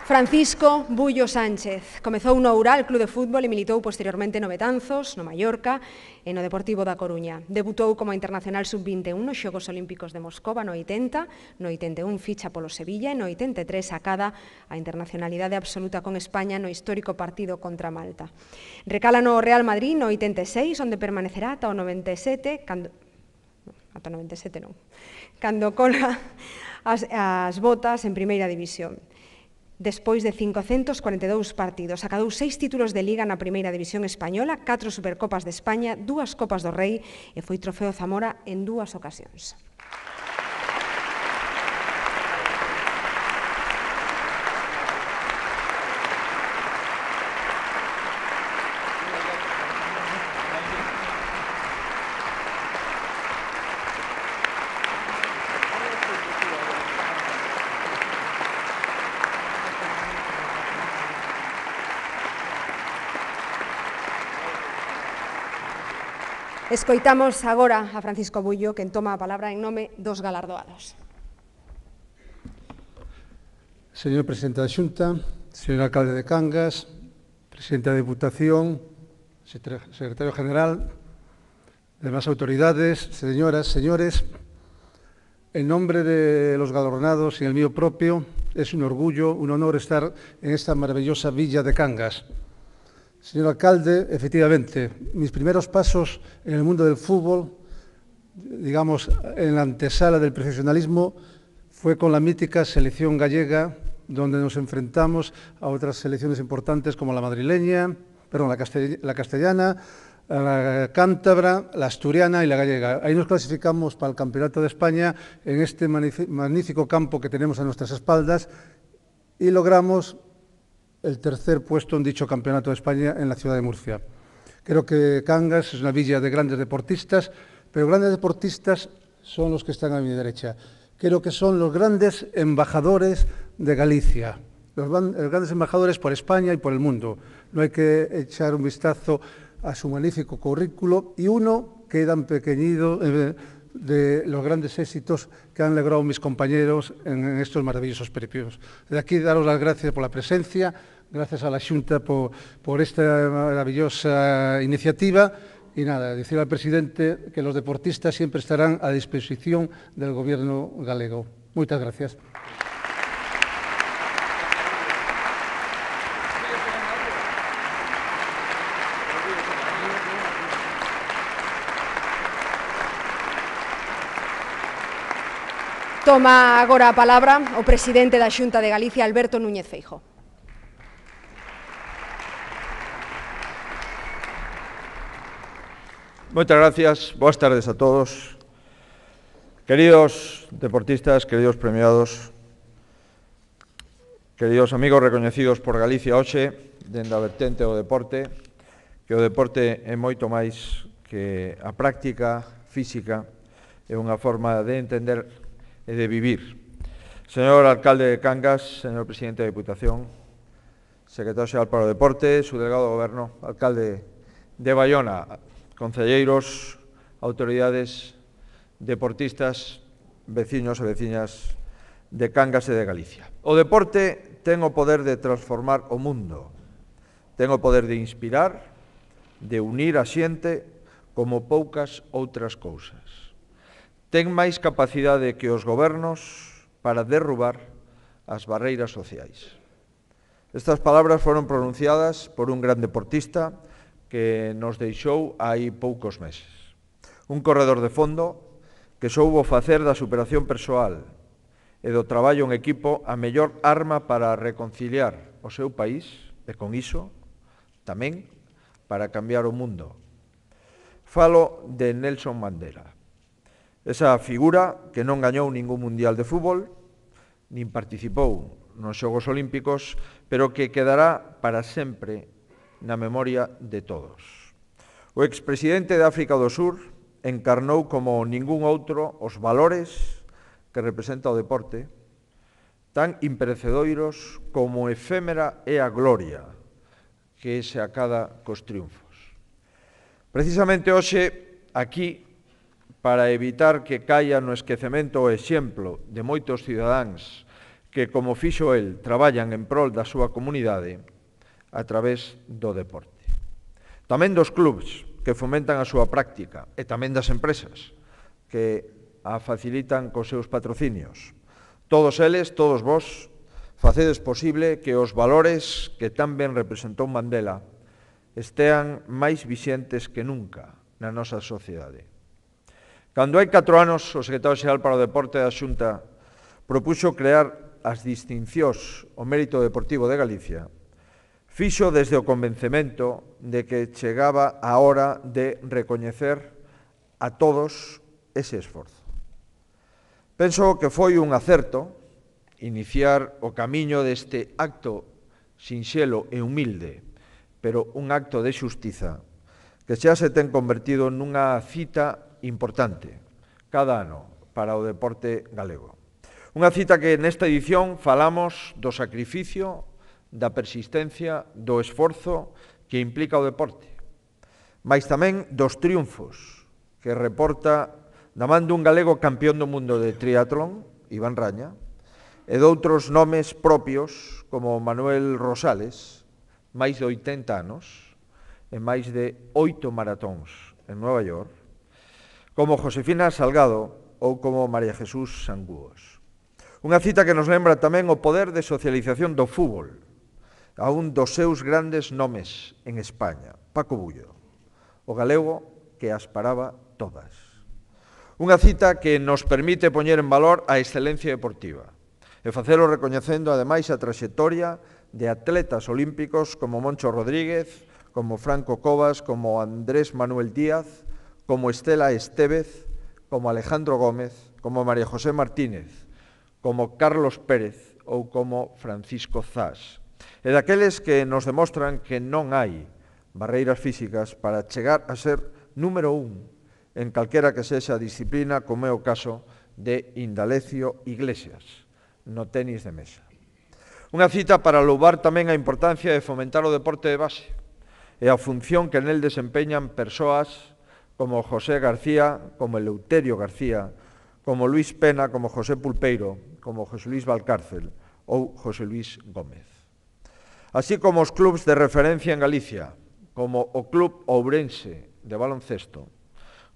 Francisco Bullo Sánchez comezou no Oural Club de Fútbol e militou posteriormente no Betanzos, no Mallorca e no Deportivo da Coruña. Debutou como internacional sub vinte e un nos Xogos Olímpicos de Moscova no oitenta, no oitenta e un ficha polo Sevilla e no oitenta e tres acada a internacionalidade absoluta con España no histórico partido contra Malta. Recala no Real Madrid no oitenta e seis, onde permanecerá ata o noventa e sete, cando... ata o noventa e sete non, cando cola as, as botas en Primeira División. Despois de cincocentos cuarenta e dous partidos, acadou seis títulos de Liga na Primeira División Española, catro Supercopas de España, dúas Copas do Rei e foi Trofeo Zamora en dúas ocasións. Escoitamos agora a Francisco Bullo, quen toma a palabra en nome dos galardoados. Señor Presidente da Xunta, señor Alcalde de Cangas, Presidente da Deputación, Secretario General, demás autoridades, señoras, señores, en nombre de los galardonados y el mío propio, es un orgullo, un honor estar en esta maravillosa villa de Cangas. Señor alcalde, efectivamente, mis primeros pasos en el mundo del fútbol, digamos, en la antesala del profesionalismo, fue con la mítica selección gallega, donde nos enfrentamos a otras selecciones importantes como la madrileña, perdón, la, castell la castellana, la cántabra, la asturiana y la gallega. Ahí nos clasificamos para el Campeonato de España en este magnífico campo que tenemos a nuestras espaldas y logramos el tercer puesto en dicho Campeonato de España en la ciudad de Murcia. Creo que Cangas es una villa de grandes deportistas, pero grandes deportistas son los que están a mi derecha. Creo que son los grandes embajadores de Galicia, los, los grandes embajadores por España y por el mundo. No hay que echar un vistazo a su magnífico currículo y uno queda en pequeñido eh, de los grandes éxitos que han logrado mis compañeros en estos maravillosos peripios. De aquí daros las gracias por la presencia, gracias a la Xunta por, por esta maravillosa iniciativa y nada, decir al presidente que los deportistas siempre estarán a disposición del gobierno galego. Muchas gracias. Toma agora a palabra o presidente da Xunta de Galicia, Alberto Núñez Feijóo. Moitas gracias, boas tardes a todos. Queridos deportistas, queridos premiados, queridos amigos recoñecidos por Galicia hoxe, dende a vertente do deporte, que o deporte é moito máis que a práctica física, é unha forma de entender e de vivir. Señor alcalde de Cangas, señor presidente da Deputación, secretario xeral para o deporte, subdelegado do goberno, alcalde de Baiona, concelleiros, autoridades deportistas, veciños e veciñas de Cangas e de Galicia. O deporte ten o poder de transformar o mundo, ten o poder de inspirar, de unir a xente como poucas outras cousas. Ten máis capacidade que os gobernos para derrubar as barreiras sociais. Estas palabras foron pronunciadas por un gran deportista que nos deixou hai poucos meses. Un corredor de fondo que soubo facer da superación persoal e do traballo en equipo a mellor arma para reconciliar o seu país e, con iso, tamén para cambiar o mundo. Falo de Nelson Mandela, esa figura que non gañou ningún mundial de fútbol, nin participou nos Xogos Olímpicos, pero que quedará para sempre na memoria de todos. O expresidente de África do Sur encarnou como ningún outro os valores que representa o deporte, tan imperecedoiros como efémera é a gloria que se acada cos triunfos. Precisamente hoxe, aquí, para evitar que caia no esquecemento o exemplo de moitos cidadáns que, como fixo el, traballan en prol da súa comunidade a través do deporte. Tamén dos clubs que fomentan a súa práctica e tamén das empresas que a facilitan cos seus patrocinios. Todos eles, todos vós, facedes posible que os valores que tan ben representou Mandela estean máis vixentes que nunca na nosa sociedade. Cando hai catro anos, o secretario xeral para o Deporte da Xunta propuxo crear as distincións ao mérito deportivo de Galicia, fixo desde o convencemento de que chegaba a hora de recoñecer a todos ese esforzo. Penso que foi un acerto iniciar o camiño deste acto sinxelo e humilde, pero un acto de xustiza que xa se ten convertido nunha cita importante cada ano para o deporte galego. Unha cita que nesta edición falamos do sacrificio, da persistencia, do esforzo que implica o deporte, mais tamén dos triunfos que reporta da man dun galego campeón do mundo de triatlón, Iván Raña, e doutros nomes propios como Manuel Rosales, máis de oitenta anos, e máis de oito maratóns en Nova York, como Josefina Salgado ou como María Jesús Sangúos. Unha cita que nos lembra tamén o poder de socialización do fútbol, a un dos seus grandes nomes en España, Paco Bullo, o galego que as paraba todas. Unha cita que nos permite poñer en valor a excelencia deportiva, e facelo recoñecendo, ademais, a traxectoria de atletas olímpicos como Moncho Rodríguez, como Franco Cobas, como Andrés Manuel Díaz, como Estela Estévez, como Alejandro Gómez, como María José Martínez, como Carlos Pérez ou como Francisco Zas. E daqueles que nos demostran que non hai barreiras físicas para chegar a ser número un en calquera que sexa a disciplina, como é o caso de Indalecio Iglesias, no tenis de mesa. Unha cita para louvar tamén a importancia de fomentar o deporte de base e a función que nel desempeñan persoas como José García, como Eleuterio García, como Luis Pena, como José Pulpeiro, como José Luis Valcárcel ou José Luis Gómez. Así como os clubs de referencia en Galicia, como o Club Ourense de baloncesto,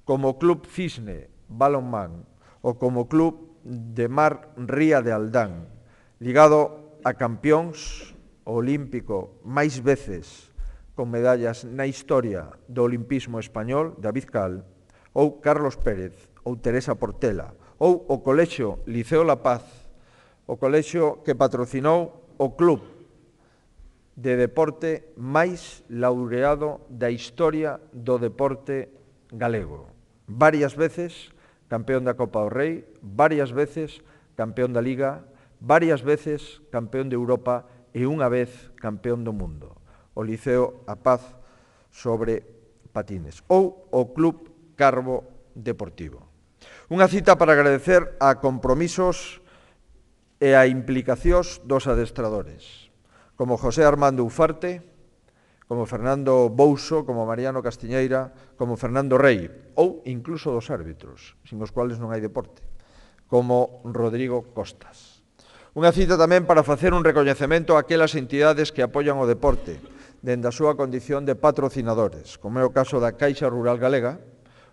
como o Club Cisne balonmán ou como o Club de Mar Ría de Aldán, ligado a campións olímpico máis veces con medallas na historia do olimpismo español, David Cal, ou Carlos Pérez, ou Teresa Portela, ou o Colexio Liceo La Paz, o colexio que patrocinou o club de deporte máis laureado da historia do deporte galego. Varias veces campeón da Copa do Rei, varias veces campeón da Liga, varias veces campeón de Europa e unha vez campeón do mundo, o Liceo A Paz sobre patines, ou o Club Carbo Deportivo. Unha cita para agradecer a compromisos e a implicacións dos adestradores, como José Armando Ufarte, como Fernando Bouso, como Mariano Castiñeira, como Fernando Rei, ou incluso dos árbitros, sin os cuales non hai deporte, como Rodrigo Costas. Unha cita tamén para facer un recoñecemento a aquelas entidades que apoian o deporte, dende a súa condición de patrocinadores, como é o caso da Caixa Rural Galega,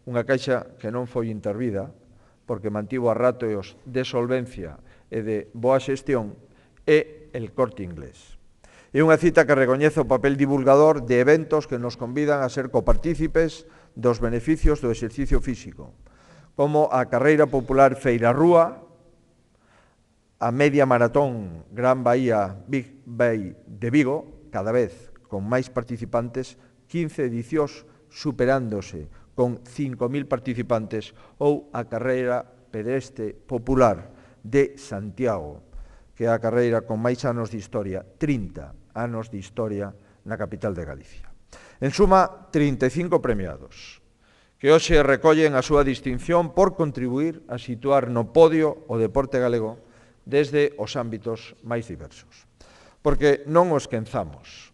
unha caixa que non foi intervida, porque mantivo a ratios de solvencia e de boa xestión, e el Corte Inglés. É unha cita que recoñece o papel divulgador de eventos que nos convidan a ser copartícipes dos beneficios do exercicio físico, como a carreira popular Feirarrúa, a media maratón Gran Bahía Big Bay de Vigo, cada vez con máis participantes, quince edicións superándose con cinco mil participantes, ou a carreira pedestre popular de Santiago, que é a carreira con máis anos de historia, trinta anos de historia na capital de Galicia. En suma, trinta e cinco premiados, que hoxe recollen a súa distinción por contribuir a situar no podio o deporte galego desde os ámbitos máis diversos. Porque non os esquenzamos.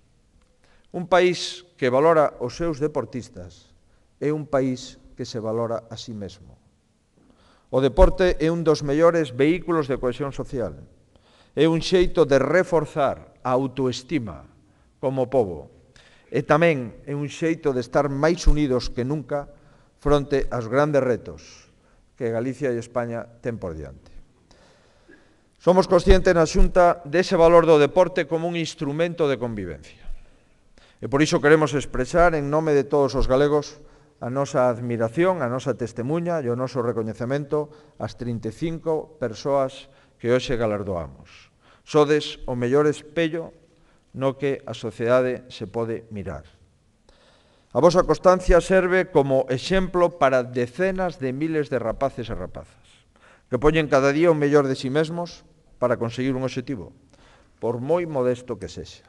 Un país que valora os seus deportistas é un país que se valora a sí mesmo. O deporte é un dos mellores vehículos de cohesión social. É un xeito de reforzar a autoestima como pobo. E tamén é un xeito de estar máis unidos que nunca fronte aos grandes retos que Galicia e España ten por diante. Somos conscientes na Xunta dese valor do deporte como un instrumento de convivencia. E por iso queremos expresar en nome de todos os galegos a nosa admiración, a nosa testemunha e o noso recoñecemento ás trinta e cinco persoas que hoxe galardoamos. Sodes o mellor espello no que a sociedade se pode mirar. A vosa constancia serve como exemplo para decenas de miles de rapaces e rapazas que poñen cada día o mellor de si mesmos para conseguir un obxectivo, por moi modesto que sexa.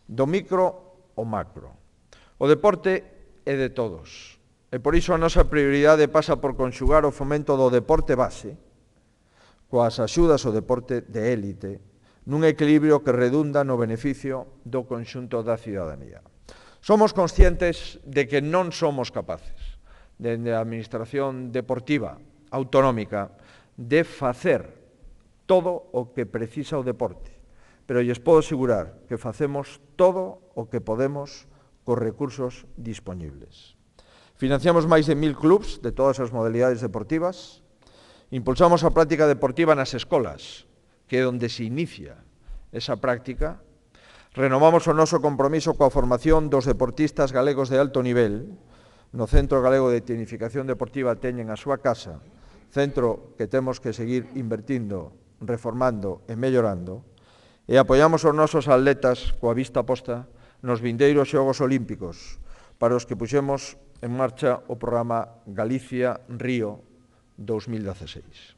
Do micro ao macro. O deporte é de todos, e por iso a nosa prioridade pasa por conxugar o fomento do deporte base coas axudas ao deporte de élite, nun equilibrio que redunda no beneficio do conxunto da cidadanía. Somos conscientes de que non somos capaces, dende a Administración Deportiva Autonómica, de facer todo o que precisa o deporte, pero lles podo asegurar que facemos todo o que podemos cos recursos dispoñibles. Financiamos máis de mil clubs de todas as modalidades deportivas. Impulsamos a práctica deportiva nas escolas, que é onde se inicia esa práctica. Renovamos o noso compromiso coa formación dos deportistas galegos de alto nivel. No Centro Galego de Tecnificación Deportiva teñen a súa casa, centro que temos que seguir invertindo, reformando e mellorando. E apoiamos os nosos atletas coa vista posta nos vindeiros Xogos Olímpicos, para os que puxemos en marcha o programa Galicia-Río dos mil dieciséis.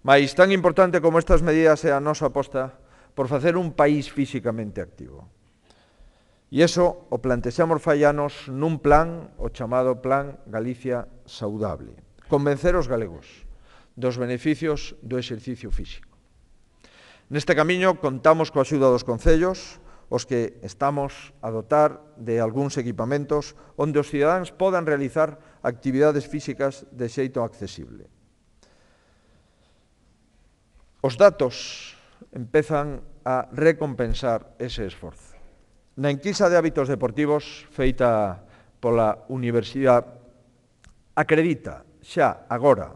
Mais tan importante como estas medidas é a nosa aposta por facer un país físicamente activo. E iso o plantexamos fai anos nun plan, o chamado Plan Galicia Saudable. Convencer os galegos dos beneficios do exercicio físico. Neste camiño contamos coa axuda dos concellos, os que estamos a dotar de algúns equipamentos onde os cidadáns podan realizar actividades físicas de xeito accesible. Os datos empezan a recompensar ese esforzo. Na enquisa de hábitos deportivos feita pola Universidade acredita xa agora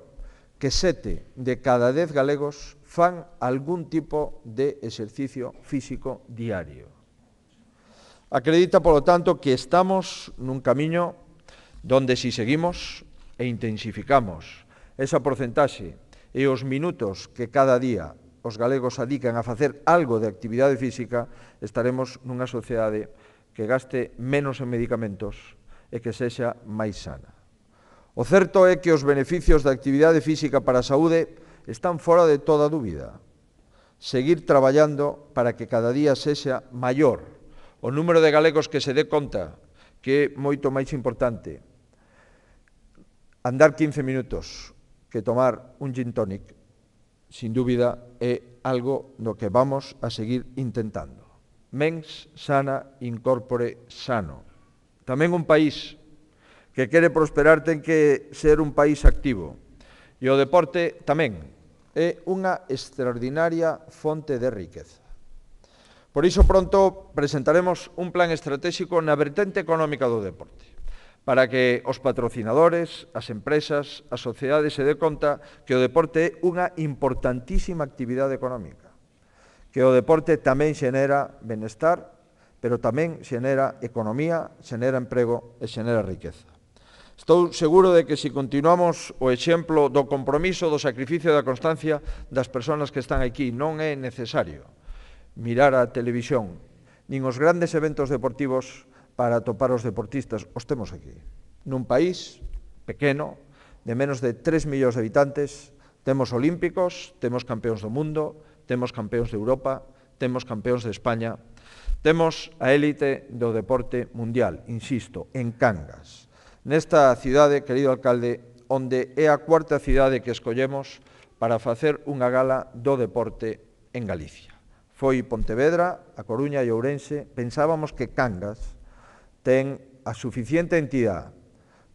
que sete de cada dez galegos fan algún tipo de exercicio físico diario. Acredita, polo tanto, que estamos nun camiño donde, si seguimos e intensificamos esa porcentaxe e os minutos que cada día os galegos adican a facer algo de actividade física, estaremos nunha sociedade que gaste menos en medicamentos e que sexa máis sana. O certo é que os beneficios da actividade física para a saúde están fora de toda dúbida. Seguir traballando para que cada día sexa maior o número de galegos que se dé conta que é moito máis importante andar quince minutos que tomar un gin tonic, sin dúbida, é algo no que vamos a seguir intentando. mens sana incorpore sano. Tamén un país que quere prosperar ten que ser un país activo. E o deporte tamén é unha extraordinaria fonte de riqueza. Por iso pronto presentaremos un plan estratégico na vertente económica do deporte, para que os patrocinadores, as empresas, a sociedade se dé conta que o deporte é unha importantísima actividade económica, que o deporte tamén xenera benestar, pero tamén xenera economía, xenera emprego e xenera riqueza. Estou seguro de que se continuamos o exemplo do compromiso, do sacrificio e da constancia das persoas que están aquí, non é necesario mirar a televisión, nin os grandes eventos deportivos para atopar os deportistas, os temos aquí. Nun país pequeno, de menos de tres millóns de habitantes, temos olímpicos, temos campeóns do mundo, temos campeóns de Europa, temos campeóns de España, temos a élite do deporte mundial, insisto, en Cangas. Nesta cidade, querido alcalde, onde é a cuarta cidade que escollemos para facer unha gala do deporte en Galicia. Foi Pontevedra, A Coruña e Ourense. Pensábamos que Cangas ten a suficiente entidade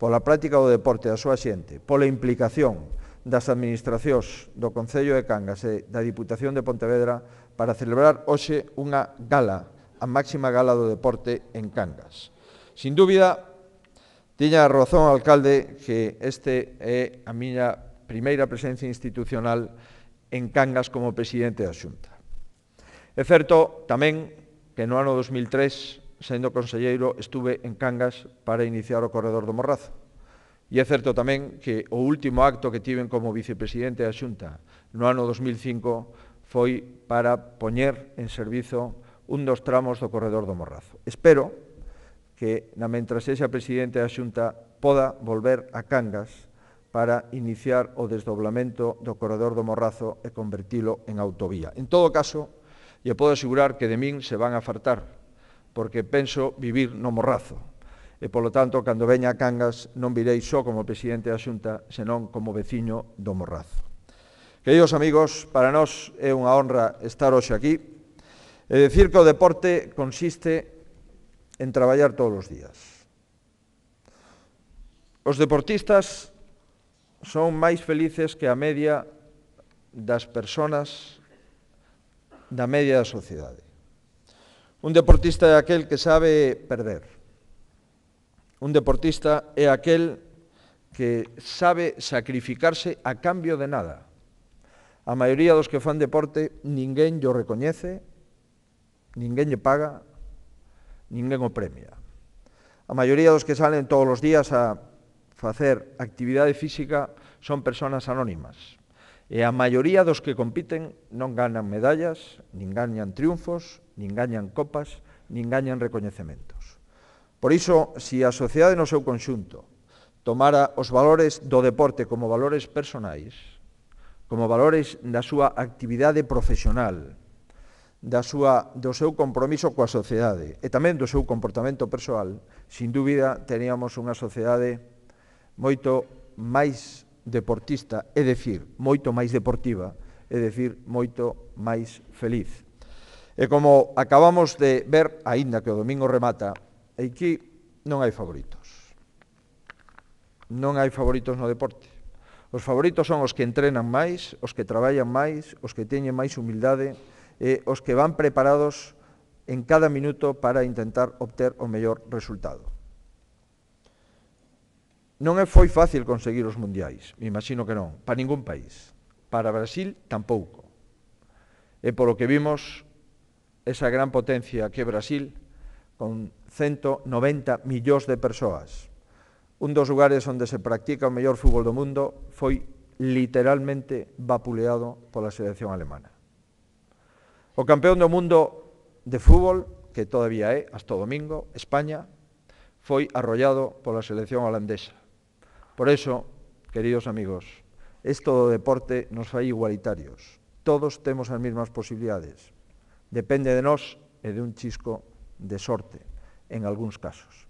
pola práctica do deporte da súa xente, pola implicación das administracións do Concello de Cangas e da Diputación de Pontevedra para celebrar hoxe unha gala, a máxima gala do deporte en Cangas. Sin dúbida, tiña razón, alcalde, que este é a miña primeira presencia institucional en Cangas como presidente da Xunta. É certo tamén que no ano dos mil tres, sendo conselleiro, estuve en Cangas para iniciar o corredor do Morrazo. E é certo tamén que o último acto que tiven como vicepresidente da Xunta no ano dos mil cinco foi para poñer en servizo un dos tramos do corredor do Morrazo. Espero que, na mentras sexa presidente da Xunta, poda volver a Cangas para iniciar o desdoblamento do corredor do Morrazo e convertilo en autovía. En todo caso, lle podo asegurar que de min se van a fartar, porque penso vivir no Morrazo. E, polo tanto, cando veña a Cangas, non virei só como presidente da Xunta, senón como veciño do Morrazo. Queridos amigos, para nós é unha honra estar hoxe aquí e decir que o deporte consiste en traballar todos os días. Os deportistas son máis felices que a media das persoas da media da sociedade. Un deportista é aquel que sabe perder. Un deportista é aquel que sabe sacrificarse a cambio de nada. A maioría dos que fan deporte, ninguén llo recoñece, ninguén lle paga, ninguén o premia. A maioría dos que salen todos os días a facer actividade física son persoas anónimas. E a maioría dos que compiten non ganan medallas, nin gañan triunfos, nin gañan copas, nin gañan recoñecementos. Por iso, se a sociedade no seu conxunto tomara os valores do deporte como valores personais, como valores da súa actividade profesional, da súa, do seu compromiso coa sociedade e tamén do seu comportamento persoal, sin dúbida teríamos unha sociedade moito máis deportista, é dicir, moito máis deportiva, é dicir, moito máis feliz. E como acabamos de ver, aínda que o domingo remata, aquí non hai favoritos. Non hai favoritos no deporte. Os favoritos son os que entrenan máis, os que traballan máis, os que teñen máis humildade, e os que van preparados en cada minuto para intentar obter o mellor resultado. Non é foi fácil conseguir os mundiais, me imagino que non, para ningún país. Para Brasil, tampouco. E polo que vimos, esa gran potencia que é Brasil, con ciento noventa millóns de persoas, un dos lugares onde se practica o mellor fútbol do mundo, foi literalmente vapuleado pola selección alemana. O campeón do mundo de fútbol, que todavía é, hasta o domingo, España, foi arrollado pola selección holandesa. Por eso, queridos amigos, isto do deporte nos fai igualitarios. Todos temos as mesmas posibilidades. Depende de nós e de un chisco de sorte, en algúns casos.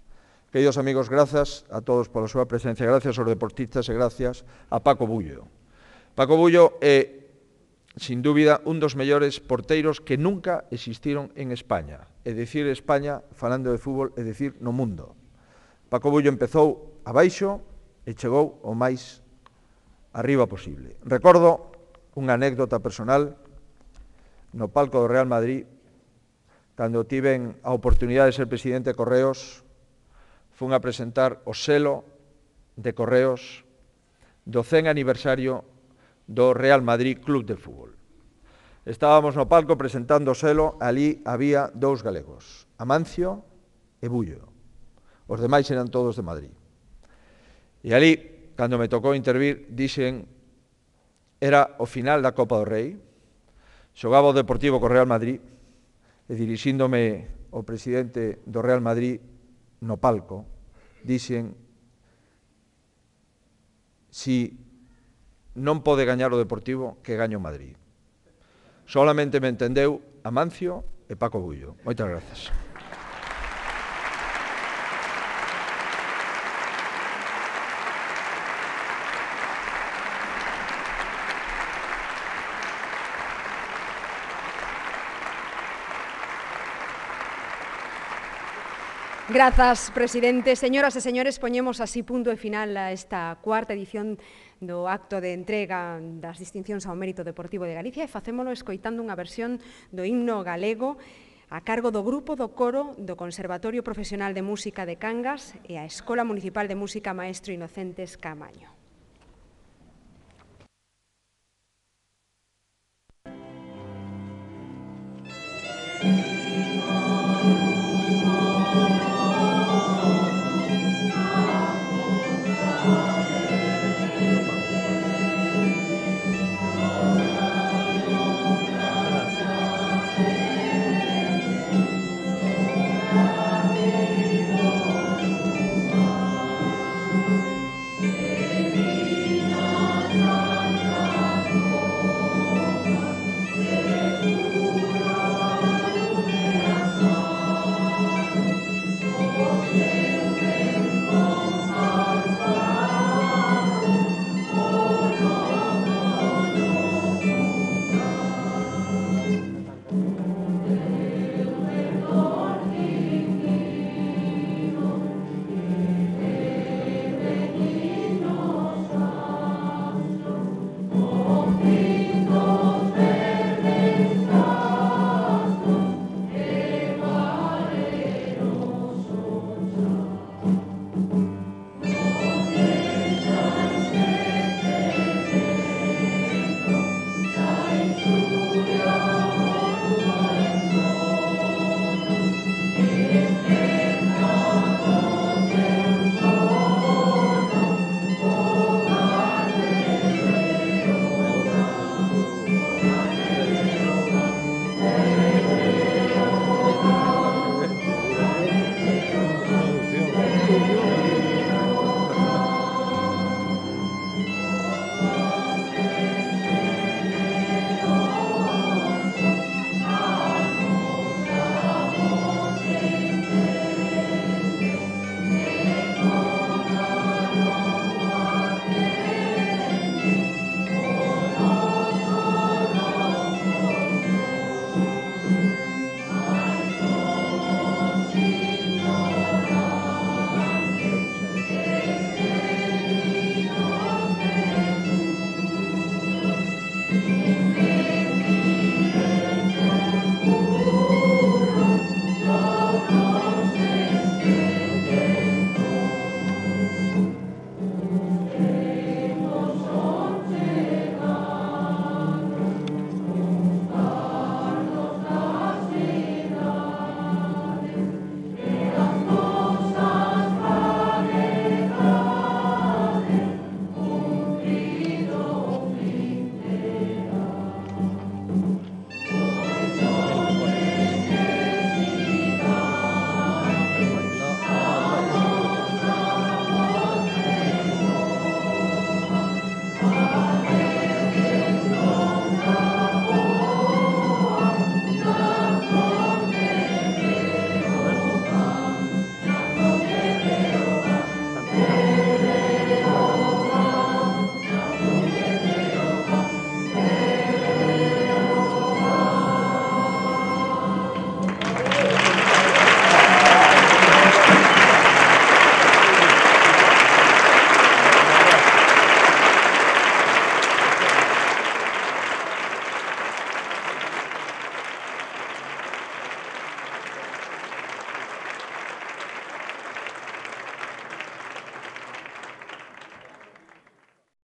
Queridos amigos, grazas a todos pola súa presencia, gracias aos deportistas e gracias a Paco Bullo. Paco Bullo é, sin dúbida, un dos mellores porteiros que nunca existiron en España. e dicir España, falando de fútbol, é dicir no mundo. Paco Bullo empezou abaixo e chegou o máis arriba posible. Recordo unha anécdota personal no palco do Real Madrid, cando tiven a oportunidade de ser presidente de Correos, fun a presentar o selo de Correos do cen aniversario do Real Madrid Club de Fútbol. Estábamos no palco presentando o selo, ali había dous galegos, Amancio e Bullo. Os demais eran todos de Madrid. E ali, cando me tocou intervir, dixen, era o final da Copa do Rei, xogaba o Deportivo co Real Madrid, e dirixíndome o presidente do Real Madrid no palco, dixen, si non pode gañar o Deportivo, que gaño o Madrid. Solamente me entendeu Amancio e Paco Bullo. Moitas grazas. Grazas, presidente. Señoras e señores, poñemos así punto e final a esta cuarta edición do acto de entrega das distincións ao mérito deportivo de Galicia e facémolo escoitando unha versión do himno galego a cargo do grupo do coro do Conservatorio Profesional de Música de Cangas e a Escola Municipal de Música Maestro Inocentes Caamaño. Thank you.